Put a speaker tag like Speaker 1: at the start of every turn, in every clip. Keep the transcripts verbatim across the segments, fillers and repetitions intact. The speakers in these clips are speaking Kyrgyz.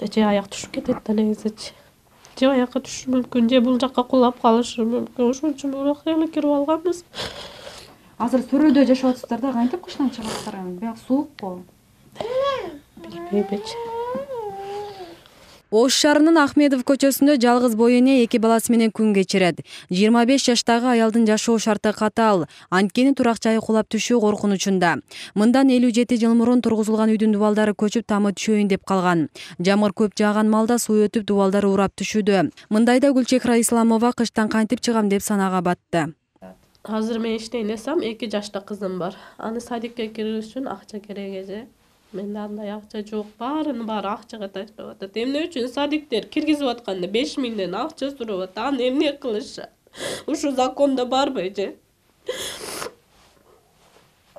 Speaker 1: же аяк түшүп кетет да негизичи. Же аякка түшүшү мүмкүн, же бул жакка кулап калышы мүмкүн. Ошон үчүн бирок эле кирип алганбыз.
Speaker 2: Азыр Сөрөдө жашап атасыздар да, кантип кыштан чыгасыздар? Бияк суукку.
Speaker 1: Билбейм.
Speaker 3: Ош шаарынын Ахмедов көчөсүндө жалгыз боо эне эки баласы менен күн кечирет. жыйырма беш жаштагы аялдын жашоо шарты катаал, анткени турак жайы кулап түшүү коркунучунда. Мындан элүү жети жыл мурун тургузулган үйдүн дубалдары көчүп тамы түшөйүн деп калган. Жамыр көп жааган малда суу өтүп дубалдар урап түшүүдө. Мындайда Гүлчехра Исламова кыштан кантип чыгам деп санага батты.
Speaker 1: Азыр мен иштейн десем, эки жашта кызым бар. Аны садикке киргизиш үчүн акча керек эже. Менде андай акча жок, баарынын баары акчага таштап атат. Эмне үчүн садиктер киргизип атканда беш миңден акча сурап атат. Аны эмне кылышы? Ушу закондо барбы эже?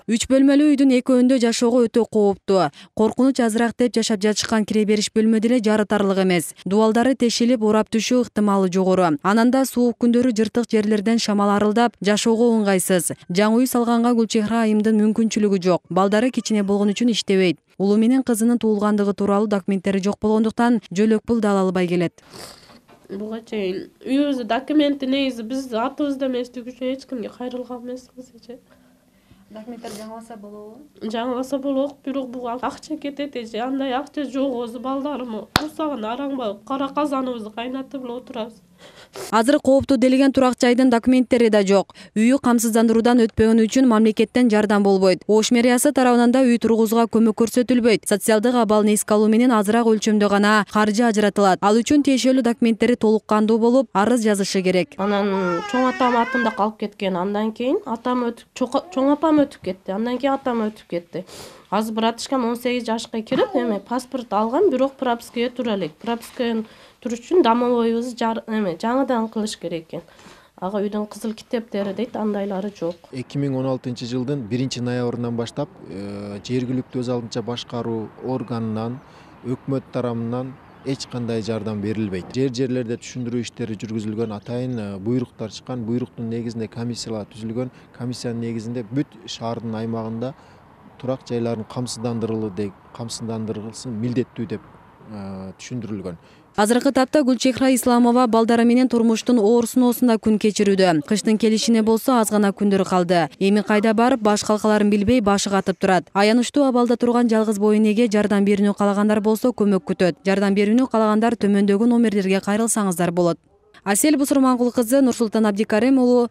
Speaker 3: Үч бөлмөлүү үйдүн экөөндө жашоого өтө кооптуу. Коркунуч азыраак деп жашап жатышкан кире бериш бөлмө деле жарытарлык эмес. Дубалдары тешилип, урап түшүү ыктымалы жогору. Ананда суук күндөрү жыртык жерлерден шамал арылдап, жашоого ыңгайсыз. Жаңы үй салганга Гүлчехра айымдын мүмкүнчүлүгү жок. Балдары кичине болгон үчүн иштебейт. Улуу менен кызынын туулгандыгы тууралуу документтери жок болгондуктан жөлөк пул да ала албай келет.
Speaker 1: Буга чейин үйүбүздүн документи негизи биз атыбызда эместиги үчүн эч кимге кайрылган эмеспиз эже.
Speaker 2: Документтер жаңыласа болобу?
Speaker 1: Жаңыласа болот, бирок буга акча кетет эже. Андай акча жок, өзү балдарым усагына араңбай кара казаныбызды кайнатып эле отурабыз.
Speaker 3: Азыр кооптуу делеген турак жайдын документтери да жок. Үйү камсыздандыруудан өтпөгөнү үчүн мамлекеттен жардам болбойт. Ош мэриясы тарабынан да үй тургузууга көмөк көрсөтүлбөйт. Социалдык абалын эске алуу менен азыраак өлчөмдө гана каржы ажыратылат. Ал үчүн тиешелүү документтери толук кандуу болуп, арыз жазышы керек.
Speaker 1: Анан чоң атам атында калып кеткен. Андан кийин атам өтүп, чоң апам өтүп кетти. Андан кийин атам өтүп кетти. Азыр братышкам он сегиз жашка кирип, эме паспорт алган, бирок пропискага тура элек. Пропискага туруш үчүн домовойубузду эме жаңыдан кылыш керек экен. Ага үйдүн кызыл китептери дейт, андайлары жок.
Speaker 4: эки миң он алтынчы жылдын биринчи ноябрынан баштап жергиликтүү өз алдынча башкаруу органынан, өкмөт тарабынан эч кандай жардам берилбейт. Жер жерлерде түшүндүрүү иштери жүргүзүлгөн, атайын буйруктар чыккан. Буйруктун негизинде комиссиялар түзүлгөн. Комиссиянын негизинде бүт шаардын аймагында турак жайларын камсыздандырылуу деп, камсыздандырылсын милдеттүү деп түшүндүрүлгөн.
Speaker 3: Азыркы тапта Гүлчехра Исламова балдары менен турмуштун оор сыноосунда күн кечирүүдө. Кыштын келишине болсо аз гана күндөр калды. Эми кайда барып, баш калкаларын билбей башы катып турат. Аянычтуу абалда турган жалгыз боо энеге жардам берүүнү каалагандар болсо көмөк күтөт. Жардам берүүнү каалагандар төмөндөгү номерлерге кайрылсаңыздар болот. Асель Бусурмангул кызы, Нурсултан Абдикарим уулу,